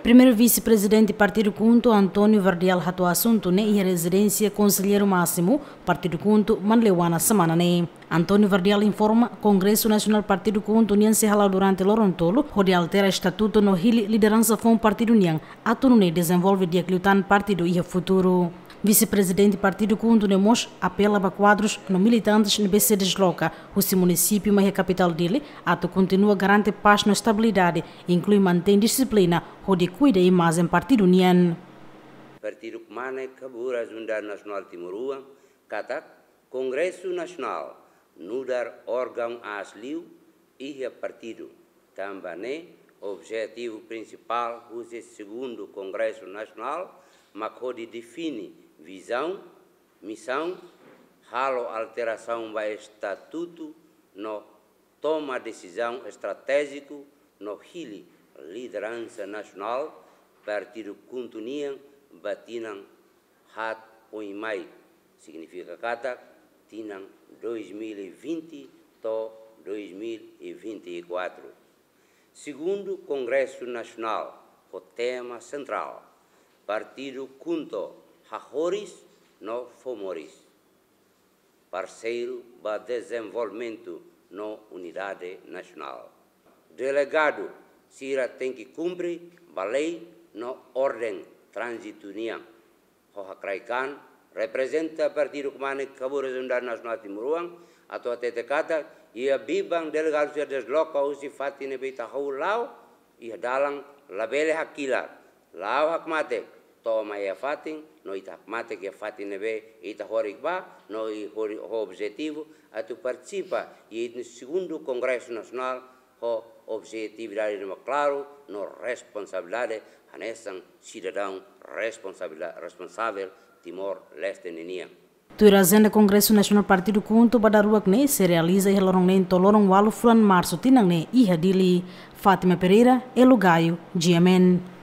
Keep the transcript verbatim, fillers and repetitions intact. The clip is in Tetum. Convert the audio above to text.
Primeiru Vise-Prezidente Partidu KHUNTO, António Verdial, hato'o asuntu ne'e iha rezidénsia Konselleiru Másimu Partidu KHUNTO, Manleuana, semana ne'e. António Verdial informa, Kongresu Nasionál Partidu KHUNTO nian sei hala'o durante loron tolu, hodi altera estatutu no hili lideransa foun partidu nian, atu nune'e dezenvolve di'ak liután partidu iha futuru. Vise-Prezidente Partidu KHUNTO ne'e mós apela ba kuadrus no militantes ne'ebé sei desloka husi munisípiu mai iha kapitál Dili, atu kontinua garante pás no estabilidade, inklui mantein dixiplina, hodi kuida imajen partidu nian. Partidu Kmanek Haburas Unidade Nasionál Timoroan katak Kongresu Nasionál nu'udar órgaun aas liu iha partidu. Tanba ne'e, objetivu prinsipál husi Segundu Kongresu Nasionál mak hodi define vizaun, misaun, halo alterasaun ba estatutu no toma desizaun estratéjiku no hili lideransa nasionál Partidu KHUNTO nian ba tinan haat oin mai, signifika katak tinan dois mil e vinte to'o dois mil e vinte e quatro. Segundu Kongresu Nasionál ho tema sentrál: Partidu KHUNTO hahoris no fó moris, parseiru ba dezenvolvimentu no unidade nasionál. Delegadu sira tenke kumpre ba lei no orden tránzitu nian. Ho hakraik an, reprezenta Partidu Kmanek Haburas Unidade Nasionál Timoroan atu hatete katak iha biban delegadu sira desloka husi fatin ne'ebé ita hahú la'o iha dalan, labele hakilar, la'o hakmatek, to'o mai iha fatin, no ita hakmatek iha fatin ne'ebé ita horik ba, no iha hori-, ho objetivu atu partisipa iha Segundu Kongresu Nasionál ho objetividade ne'ebé klaru no responsabilidade hanesan sidadaun responsabila-, responsavel Timor-Leste ninian. Tuir ajenda Kongresu Nasionál Partidu KHUNTO ba dala rua ne'e sei realiza iha loron neen to'o loron ualu fulan Marsu tinan ne'e iha Dili. Fátima Pereira, Elo Gaio, G M N.